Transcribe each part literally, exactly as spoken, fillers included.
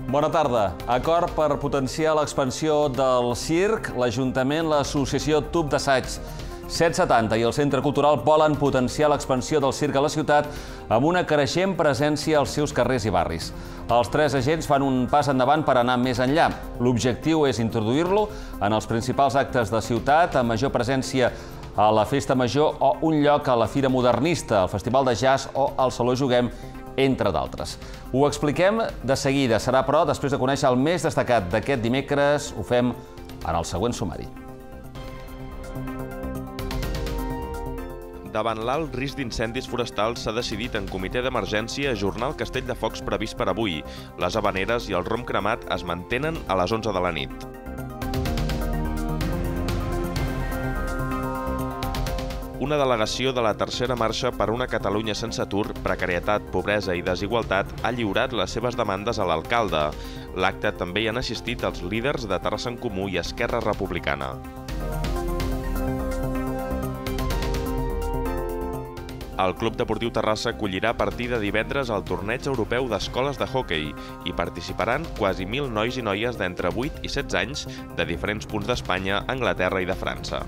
Bona tarda. Acord per potenciar l'expansió del circ, l'Ajuntament, l'Associació Tub d'Assaig set setanta i el Centre Cultural volen potenciar l'expansió del circ a la ciutat amb una creixent presència als seus carrers i barris. Els tres agents fan un pas endavant per anar més enllà. L'objectiu és introduir-lo en els principals actes de ciutat, amb major presència a la Festa Major o un lloc a la Fira Modernista, al Festival de Jazz o al Saló Juguem, entre d'altres. Ho expliquem de seguida. Serà, però, després de conèixer el més destacat d'aquest dimecres, ho fem en el següent sumari. Davant l'alt risc d'incendis forestals s'ha decidit en comitè d'emergència ajornar el castell de focs previst per avui. Les havaneres i el rom cremat es mantenen a les onze de la nit. Una delegació de la tercera marxa per una Catalunya sense atur, precarietat, pobresa i desigualtat ha lliurat les seves demandes a l'alcalde. L'acte també hi han assistit els líders de Terrassa en Comú i Esquerra Republicana. El Club Deportiu Terrassa acollirà a partir de divendres el torneig europeu d'escoles de hoquei. Hi participaran quasi mil nois i noies d'entre vuit i setze anys de diferents punts d'Espanya, Anglaterra i de França.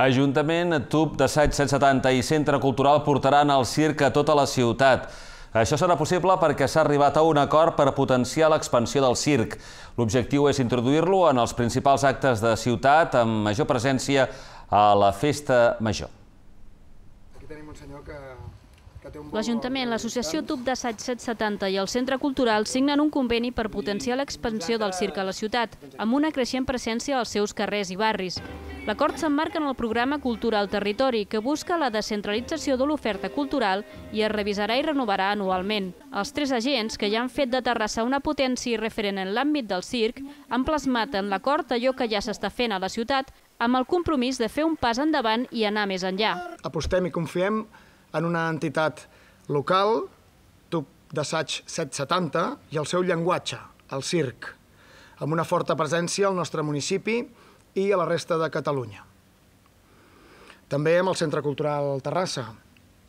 Ajuntament, Tub d'Assaig set setanta i Centre Cultural portaran el circ a tota la ciutat. Això serà possible perquè s'ha arribat a un acord per potenciar l'expansió del circ. L'objectiu és introduir-lo en els principals actes de ciutat amb major presència a la Festa Major. Aquí tenim un senyor que... L'Ajuntament, l'Associació Tub d'Assaig set setanta i el Centre Cultural signen un conveni per potenciar l'expansió del circ a la ciutat, amb una creixent presència als seus carrers i barris. L'acord s'emmarca en el programa Cultura al Territori, que busca la descentralització de l'oferta cultural i es revisarà i renovarà anualment. Els tres agents, que ja han fet de Terrassa una potència i referent en l'àmbit del circ, han plasmat en l'acord allò que ja s'està fent a la ciutat, amb el compromís de fer un pas endavant i anar més enllà. Apostem i confiem en una entitat local, Tub d'Assaig set setanta, i el seu llenguatge, el circ, amb una forta presència al nostre municipi i a la resta de Catalunya. També amb el Centre Cultural Terrassa,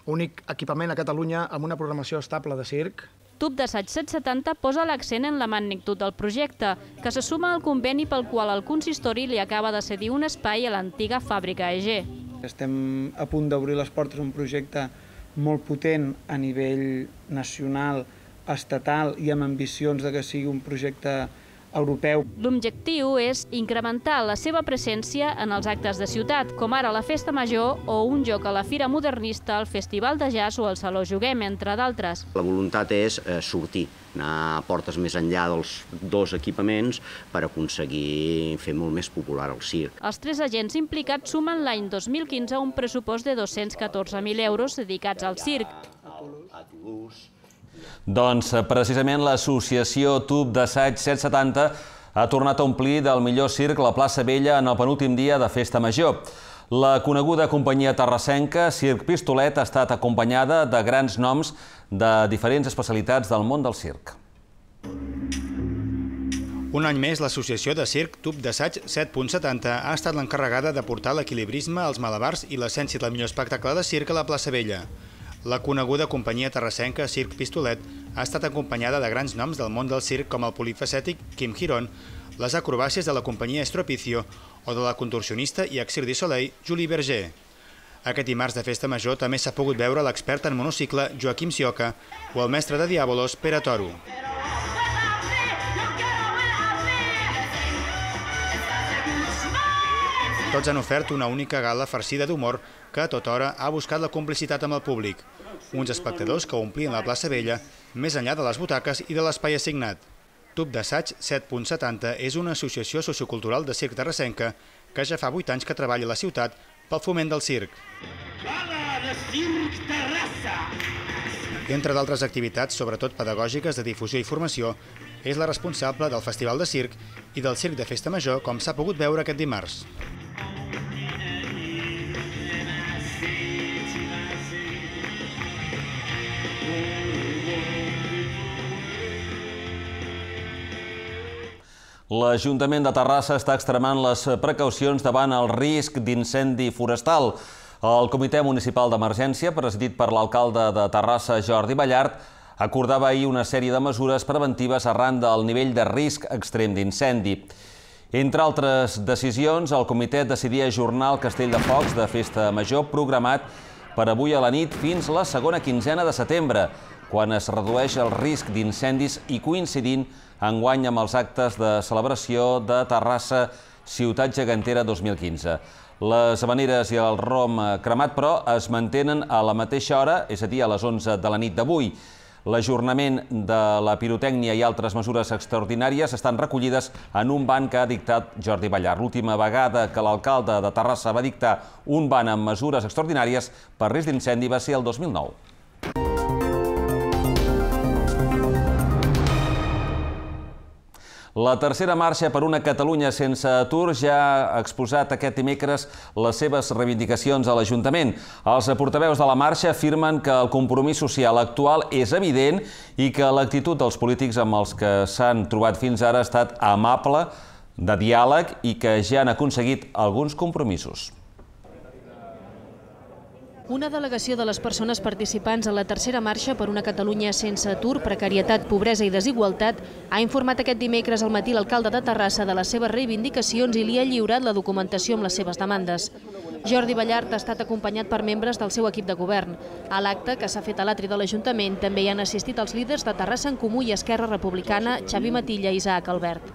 únic equipament a Catalunya amb una programació estable de circ. Tub d'Assaig set setanta posa l'accent en la magnitud del projecte, que se suma al conveni pel qual el consistori li acaba de cedir un espai a l'antiga fàbrica E G. Estem a punt d'obrir les portes a un projecte molt potent a nivell nacional, estatal i amb ambicions de que sigui un projecte europeu. L'objectiu és incrementar la seva presència en els actes de ciutat, com ara la Festa Major o un joc a la Fira Modernista, el Festival de Jazz o el Saló Juguem, entre d'altres. La voluntat és sortir, anar a portes més enllà dels dos equipaments per aconseguir fer molt més popular el circ. Els tres agents implicats sumen l'any dos mil quinze un pressupost de dos-cents catorze mil euros dedicats al circ. Doncs precisament l'associació Tub d'Assaig set setanta ha tornat a omplir del millor circ la plaça Vella en el penúltim dia de Festa Major. La coneguda companyia terrassenca Circ Pistolet ha estat acompanyada de grans noms de diferents especialitats del món del circ. Un any més, l'associació de circ Tub d'Assaig set setanta ha estat l'encarregada de portar l'equilibrisme, els malabars i l'essència del millor espectacle de circ a la plaça Vella. La coneguda companyia terrassenca Circ Pistolet ha estat acompanyada de grans noms del món del circ com el polifacètic Quim Girón, les acrobàcies de la companyia Estropicio o de la contorsionista i ex Cirque du Soleil Julie Berger. Aquest dimarts de Festa Major també s'ha pogut veure l'expert en monocicle Joaquim Sioca o el mestre de Diàbolos Pere Toro. Tots han ofert una única gala farcida d'humor que a tota hora ha buscat la complicitat amb el públic. Uns espectadors que omplien la plaça Vella més enllà de les butaques i de l'espai assignat. Tub d'Assaig set setanta és una associació sociocultural de circ terrassenca que ja fa vuit anys que treballa a la ciutat pel foment del circ. Entre d'altres activitats, sobretot pedagògiques de difusió i formació, és la responsable del Festival de Circ i del Circ de Festa Major, com s'ha pogut veure aquest dimarts. L'Ajuntament de Terrassa està extremant les precaucions davant el risc d'incendi forestal. El Comitè Municipal d'Emergència, presidit per l'alcalde de Terrassa, Jordi Ballart, acordava ahir una sèrie de mesures preventives arran del nivell de risc extrem d'incendi. Entre altres decisions, el comitè decidia ajornar el Castell de Focs de Festa Major programat per avui a la nit fins la segona quinzena de setembre, quan es redueix el risc d'incendis i coincidint enguany amb els actes de celebració de Terrassa Ciutat Gegantera dos mil quinze. Les havaneres i el rom cremat, però, es mantenen a la mateixa hora, és a dir, a les onze de la nit d'avui. L'ajornament de la pirotècnia i altres mesures extraordinàries estan recollides en un ban que ha dictat Jordi Ballart. L'última vegada que l'alcalde de Terrassa va dictar un ban amb mesures extraordinàries per risc d'incendi va ser el dos mil nou. La tercera marxa per una Catalunya sense atur ja ha exposat aquest dimecres les seves reivindicacions a l'Ajuntament. Els portaveus de la marxa afirmen que el compromís social actual és evident i que l'actitud dels polítics amb els que s'han trobat fins ara ha estat amable, de diàleg i que ja han aconseguit alguns compromisos. Una delegació de les persones participants a la tercera marxa per una Catalunya sense atur, precarietat, pobresa i desigualtat ha informat aquest dimecres al matí l'alcalde de Terrassa de les seves reivindicacions i li ha lliurat la documentació amb les seves demandes. Jordi Ballart ha estat acompanyat per membres del seu equip de govern. A l'acte, que s'ha fet a l'atri de l'Ajuntament, també hi han assistit els líders de Terrassa en Comú i Esquerra Republicana, Xavi Matilla i Isaac Albert.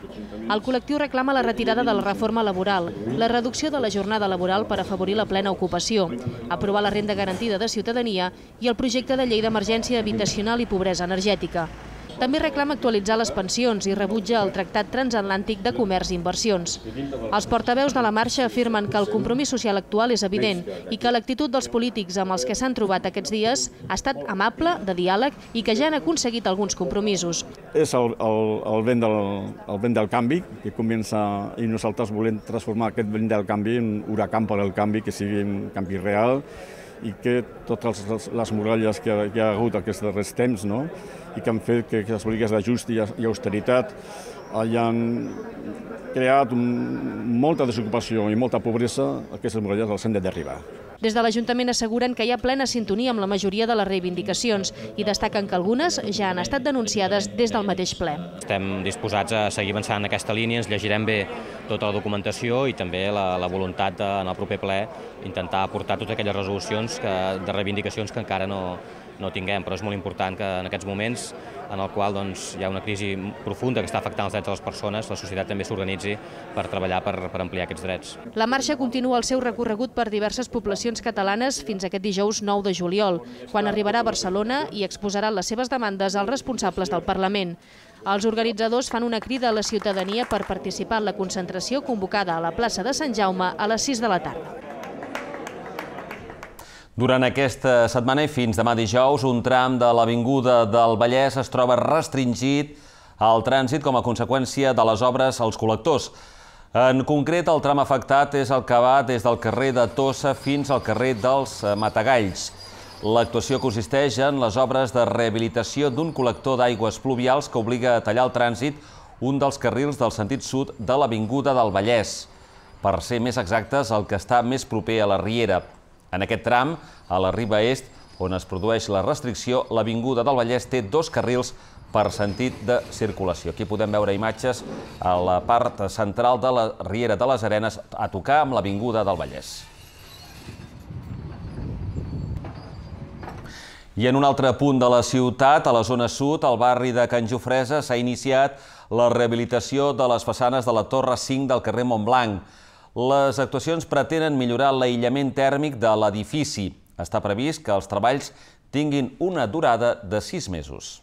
El col·lectiu reclama la retirada de la reforma laboral, la reducció de la jornada laboral per afavorir la plena ocupació, aprovar la renda garantida de ciutadania i el projecte de llei d'emergència habitacional i pobresa energètica. També reclama actualitzar les pensions i rebutja el Tractat Transatlàntic de Comerç i Inversions. Els portaveus de la marxa afirmen que el compromís social actual és evident i que l'actitud dels polítics amb els que s'han trobat aquests dies ha estat amable, de diàleg i que ja han aconseguit alguns compromisos. És el, el, el, vent del, el vent del canvi que comença i nosaltres volem transformar aquest vent del canvi en un huracan per al canvi, que sigui un canvi real i que totes les muralles que hi ha hagut aquests darrers temps, no? I que han fet que les polítiques d'ajust i austeritat hagin creat molta desocupació i molta pobresa, aquestes muralles les hem de derribar. Des de l'Ajuntament asseguren que hi ha plena sintonia amb la majoria de les reivindicacions i destaquen que algunes ja han estat denunciades des del mateix ple. Estem disposats a seguir avançant en aquesta línia, ens llegirem bé tota la documentació i també la, la voluntat de, en el proper ple intentar aportar totes aquelles resolucions que, de reivindicacions que encara no, no tinguem, però és molt important que en aquests moments en el qual doncs, hi ha una crisi profunda que està afectant els drets de les persones, la societat també s'organitzi per treballar per, per ampliar aquests drets. La marxa continua el seu recorregut per diverses poblacions catalanes fins aquest dijous nou de juliol, quan arribarà a Barcelona i exposarà les seves demandes als responsables del Parlament. Els organitzadors fan una crida a la ciutadania per participar en la concentració convocada a la plaça de Sant Jaume a les sis de la tarda. Durant aquesta setmana i fins demà dijous, un tram de l'Avinguda del Vallès es troba restringit al trànsit com a conseqüència de les obres als col·lectors. En concret, el tram afectat és el que va des del carrer de Tossa fins al carrer dels Matagalls. L'actuació consisteix en les obres de rehabilitació d'un col·lector d'aigües pluvials que obliga a tallar el trànsit un dels carrils del sentit sud de l'Avinguda del Vallès, per ser més exactes, el que està més proper a la Riera. En aquest tram, a la riba est, on es produeix la restricció, l'Avinguda del Vallès té dos carrils per sentit de circulació. Aquí podem veure imatges a la part central de la Riera de les Arenes a tocar amb l'Avinguda del Vallès. I en un altre punt de la ciutat, a la zona sud, al barri de Can Jofresa, s'ha iniciat la rehabilitació de les façanes de la Torre cinc del carrer Montblanc. Les actuacions pretenen millorar l'aïllament tèrmic de l'edifici. Està previst que els treballs tinguin una durada de sis mesos.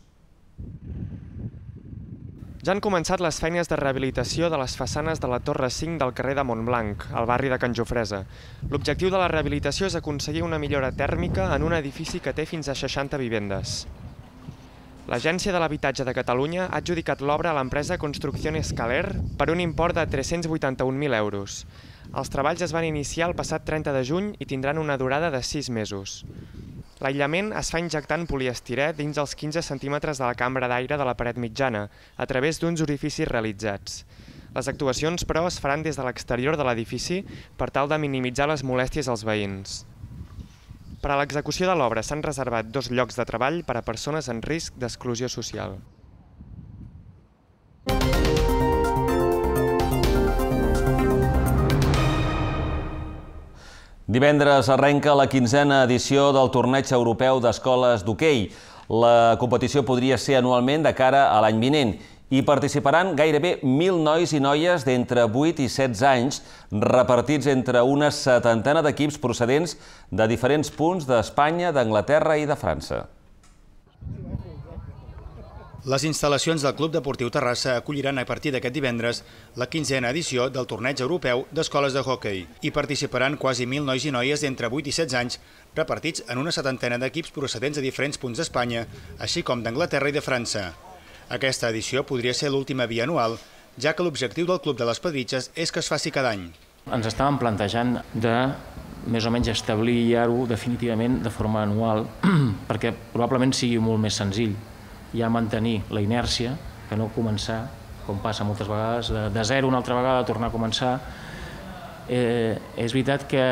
Ja han començat les feines de rehabilitació de les façanes de la Torre cinc del carrer de Montblanc, al barri de Can Jofresa. L'objectiu de la rehabilitació és aconseguir una millora tèrmica en un edifici que té fins a seixanta vivendes. L'Agència de l'Habitatge de Catalunya ha adjudicat l'obra a l'empresa Construcción Escaler per un import de tres-cents vuitanta-un mil euros. Els treballs es van iniciar el passat trenta de juny i tindran una durada de sis mesos. L'aïllament es fa injectant poliestirè dins els quinze centímetres de la cambra d'aire de la paret mitjana, a través d'uns orificis realitzats. Les actuacions, però, es faran des de l'exterior de l'edifici per tal de minimitzar les molèsties als veïns. Per a l'execució de l'obra s'han reservat dos llocs de treball per a persones en risc d'exclusió social. Divendres arrenca la quinzena edició del Torneig Europeu d'Escoles d'Hoquei. La competició podria ser anualment de cara a l'any vinent. Hi participaran gairebé mil nois i noies d'entre vuit i setze anys, repartits entre una setantena d'equips procedents de diferents punts d'Espanya, d'Anglaterra i de França. Les instal·lacions del Club Deportiu Terrassa acolliran a partir d'aquest divendres la quinzena edició del Torneig Europeu d'Escoles de Hoquei. Hi participaran quasi mil nois i noies d'entre vuit i setze anys, repartits en una setantena d'equips procedents de diferents punts d'Espanya, així com d'Anglaterra i de França. Aquesta edició podria ser l'última bianual, ja que l'objectiu del Club de les Pedritxes és que es faci cada any. Ens estàvem plantejant de més o menys establir ja-ho definitivament de forma anual, perquè probablement sigui molt més senzill ja mantenir la inèrcia que no començar, com passa moltes vegades, de zero una altra vegada, tornar a començar. Eh, és veritat que,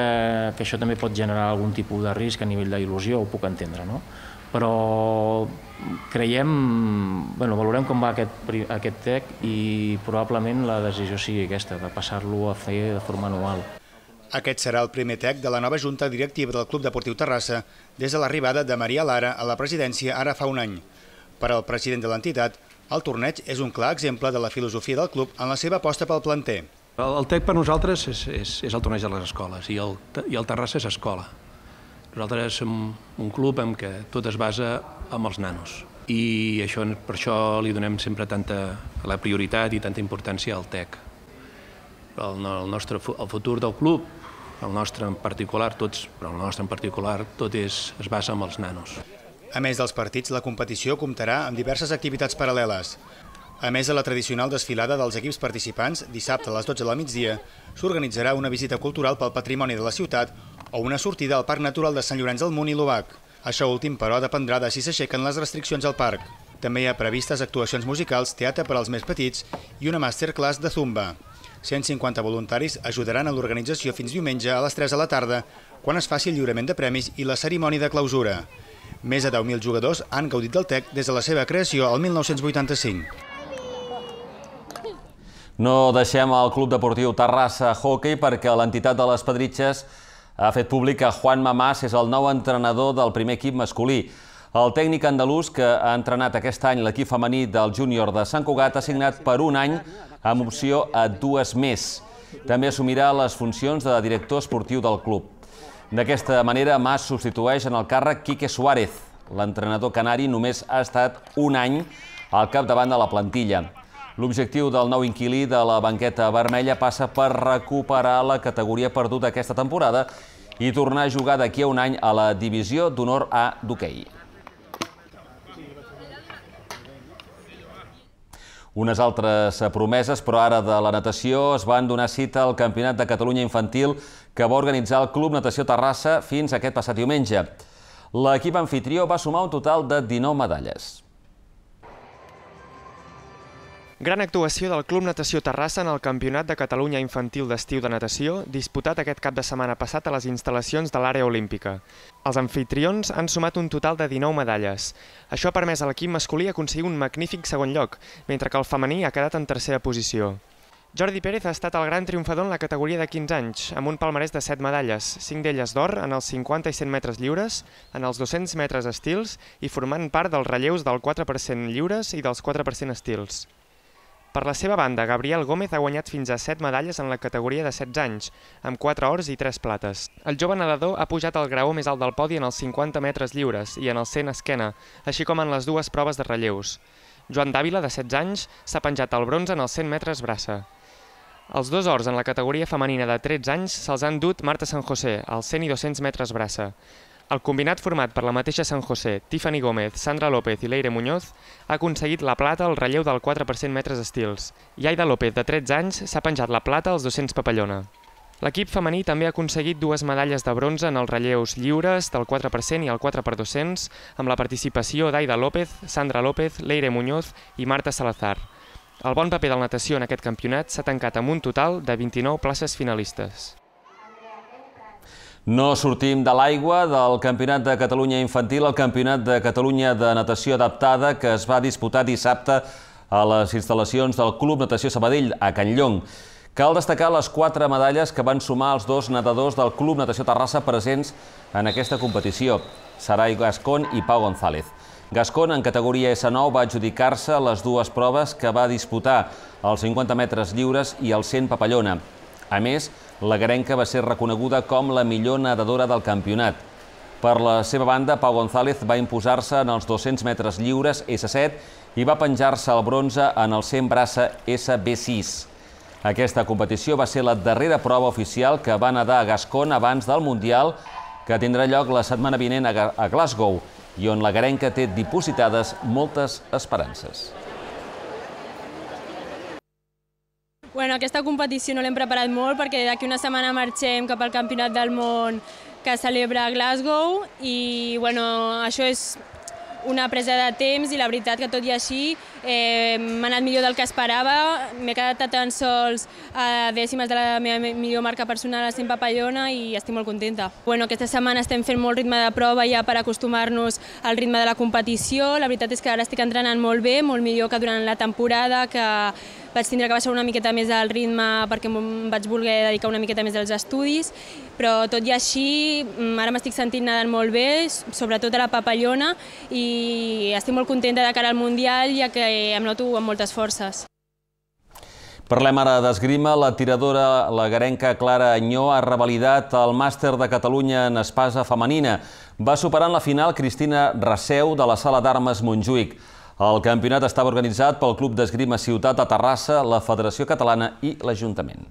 que això també pot generar algun tipus de risc a nivell d'il·lusió, ho puc entendre, no? Però creiem, bueno, valorem com va aquest, aquest T E C i probablement la decisió sigui aquesta, de passar-lo a fer de forma anual. Aquest serà el primer T E C de la nova Junta Directiva del Club Deportiu Terrassa des de l'arribada de Maria Lara a la presidència ara fa un any. Per al president de l'entitat, el torneig és un clar exemple de la filosofia del club en la seva aposta pel planter. El T E C per nosaltres és, és, és el torneig de les escoles i el, i el Terrassa és escola. Nosaltres som un club en què tot es basa en els nanos i això, per això li donem sempre tanta la prioritat i tanta importància al T E C. El, el, nostre, el futur del club, el nostre en particular, tots, però el nostre en particular, tot és, es basa en els nanos. A més dels partits, la competició comptarà amb diverses activitats paral·leles. A més de la tradicional desfilada dels equips participants, dissabte a les dotze del migdia, s'organitzarà una visita cultural pel patrimoni de la ciutat o una sortida al Parc Natural de Sant Llorenç del Munt i l'Obac. Això últim, però, dependrà de si s'aixequen les restriccions al parc. També hi ha previstes actuacions musicals, teatre per als més petits i una masterclass de zumba. cent cinquanta voluntaris ajudaran a l'organització fins diumenge a les tres de la tarda, quan es faci el lliurament de premis i la cerimònia de clausura. Més de deu mil jugadors han gaudit del T E C des de la seva creació el mil nou-cents vuitanta-cinc. No deixem el Club Deportiu Terrassa Hoquei perquè l'entitat de les Pedritxes ha fet públic que Juan Mamàs és el nou entrenador del primer equip masculí. El tècnic andalús que ha entrenat aquest any l'equip femení del júnior de Sant Cugat ha signat per un any amb opció a dues més. També assumirà les funcions de director esportiu del club. D'aquesta manera, Mas substitueix en el càrrec Quique Suárez. L'entrenador canari només ha estat un any al capdavant de la plantilla. L'objectiu del nou inquilí de la banqueta vermella passa per recuperar la categoria perduda aquesta temporada i tornar a jugar d'aquí a un any a la divisió d'honor A d'hoquei. Unes altres promeses, però ara de la natació, es van donar cita al Campionat de Catalunya Infantil que va organitzar el Club Natació Terrassa fins aquest passat diumenge. L'equip anfitrió va sumar un total de dinou medalles. Gran actuació del Club Natació Terrassa en el Campionat de Catalunya Infantil d'Estiu de Natació, disputat aquest cap de setmana passat a les instal·lacions de l'àrea olímpica. Els anfitrions han sumat un total de dinou medalles. Això ha permès a l'equip masculí aconseguir un magnífic segon lloc, mentre que el femení ha quedat en tercera posició. Jordi Pérez ha estat el gran triomfador en la categoria de quinze anys, amb un palmarès de set medalles, cinc d'elles d'or en els cinquanta i cent metres lliures, en els dos-cents metres estils i formant part dels relleus del quatre per cent lliures i dels quatre per cent estils. Per la seva banda, Gabriel Gómez ha guanyat fins a set medalles en la categoria de setze anys, amb quatre ors i tres plates. El jove nedador ha pujat al graó més alt del podi en els cinquanta metres lliures i en el cent esquena, així com en les dues proves de relleus. Joan Dàvila, de setze anys, s'ha penjat el bronze en els cent metres braça. Els dos ors en la categoria femenina de tretze anys se'ls han dut Marta San José, als cent i dos-cents metres braça. El combinat format per la mateixa San José, Tiffany Gómez, Sandra López i Leire Muñoz ha aconseguit la plata al relleu del quatre per cent metres estils. I Aida López, de tretze anys, s'ha penjat la plata als dos-cents papallona. L'equip femení també ha aconseguit dues medalles de bronze en els relleus lliures del quatre per cent i el quatre per dos-cents, amb la participació d'Aida López, Sandra López, Leire Muñoz i Marta Salazar. El bon paper del natació en aquest campionat s'ha tancat amb un total de vint-i-nou places finalistes. No sortim de l'aigua del Campionat de Catalunya Infantil al Campionat de Catalunya de Natació Adaptada que es va disputar dissabte a les instal·lacions del Club Natació Sabadell, a Can Llong. Cal destacar les quatre medalles que van sumar els dos nedadors del Club Natació Terrassa presents en aquesta competició, Sarai Gascón i Pau González. Gascón, en categoria essa nou, va adjudicar-se les dues proves que va disputar, els cinquanta metres lliures i el cent papallona. A més, la garenca va ser reconeguda com la millor nedadora del campionat. Per la seva banda, Pau González va imposar-se en els dos-cents metres lliures essa set i va penjar-se el bronze en el cent braça essa be sis. Aquesta competició va ser la darrera prova oficial que va nedar a Gascón abans del Mundial, que tindrà lloc la setmana vinent a Glasgow, i on la garenca té dipositades moltes esperances. Bueno, aquesta competició no l'hem preparat molt perquè d'aquí una setmana marxem cap al Campionat del Món que es celebra a Glasgow i bueno, això és una presa de temps i la veritat que tot i així eh, m'ha anat millor del que esperava. M'he quedat a tan sols a dècimes de la meva millor marca personal a cent papallona i estic molt contenta. Bueno, aquesta setmana estem fent molt ritme de prova ja per acostumar-nos al ritme de la competició. La veritat és que ara estic entrenant molt bé, molt millor que durant la temporada, que vaig tindre que baixar una miqueta més el ritme perquè em vaig voler dedicar una miqueta més als estudis, però tot i així ara m'estic sentint nedant molt bé, sobretot a la papallona, i estic molt contenta de cara al Mundial, ja que em noto amb moltes forces. Parlem ara d'esgrima. La tiradora, la garenca Clara Añó, ha revalidat el màster de Catalunya en espasa femenina. Va superar en la final Cristina Raseu de la Sala d'Armes Montjuïc. El campionat estava organitzat pel Club d'Esgrima Ciutat de Terrassa, la Federació Catalana i l'Ajuntament.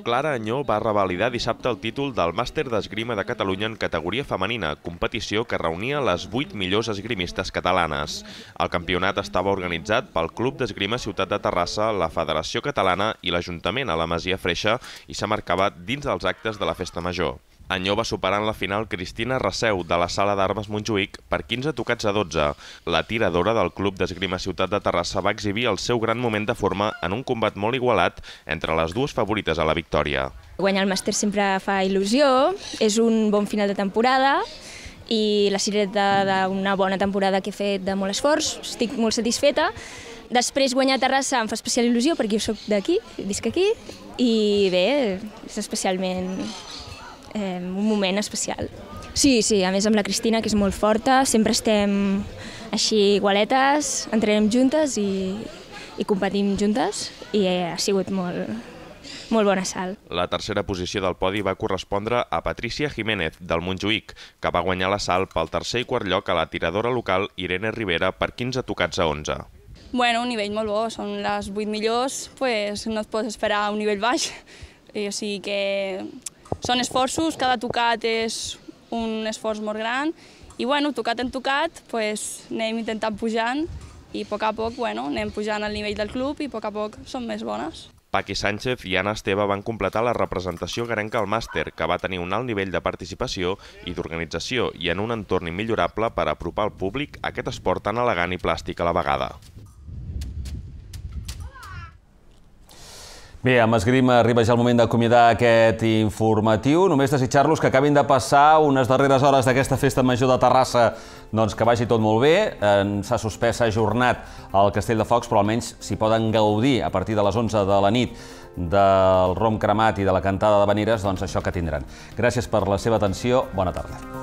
Clara Añó va revalidar dissabte el títol del Màster d'Esgrima de Catalunya en categoria femenina, competició que reunia les vuit millors esgrimistes catalanes. El campionat estava organitzat pel Club d'Esgrima Ciutat de Terrassa, la Federació Catalana i l'Ajuntament a la Masia Freixa i s'emmarcava dins dels actes de la Festa Major. Añó va superar en la final Cristina Raseu de la Sala d'Armes Montjuïc per quinze tocats a dotze. La tiradora del Club d'Esgrima Ciutat de Terrassa va exhibir el seu gran moment de forma en un combat molt igualat entre les dues favorites a la victòria. Guanyar el màster sempre fa il·lusió, és un bon final de temporada i la cireta d'una bona temporada que he fet de molt esforç, estic molt satisfeta. Després guanyar a Terrassa em fa especial il·lusió perquè jo soc d'aquí, visc aquí, i bé, és especialment Eh, un moment especial. Sí, sí, a més amb la Cristina, que és molt forta, sempre estem així igualetes, entrenem juntes i, i competim juntes i ha sigut molt, molt bona salt. La tercera posició del podi va correspondre a Patricia Jiménez, del Montjuïc, que va guanyar la salt pel tercer i quart lloc a la tiradora local Irene Rivera per quinze tocats a onze. Bueno, un nivell molt bo, són les vuit millors, pues no et pots esperar un nivell baix, o sigui que són esforços, cada tocat és un esforç molt gran i bueno, tocat en tocat pues, anem intentant pujant i a poc a poc bueno, anem pujant al nivell del club i a poc a poc som més bones. Paqui Sánchez i Anna Esteve van completar la representació garenca al màster, que va tenir un alt nivell de participació i d'organització i en un entorn immillorable per apropar al públic aquest esport tan elegant i plàstic a la vegada. Bé, amb esgrima arriba ja el moment d'acomiadar aquest informatiu. Només desitjar-los que acabin de passar unes darreres hores d'aquesta festa major de Terrassa, doncs que vagi tot molt bé. S'ha suspès, s'ha ajornat el Castell de Focs, però almenys s'hi poden gaudir a partir de les onze de la nit del rom cremat i de la cantada d'havaneres, doncs això que tindran. Gràcies per la seva atenció. Bona tarda.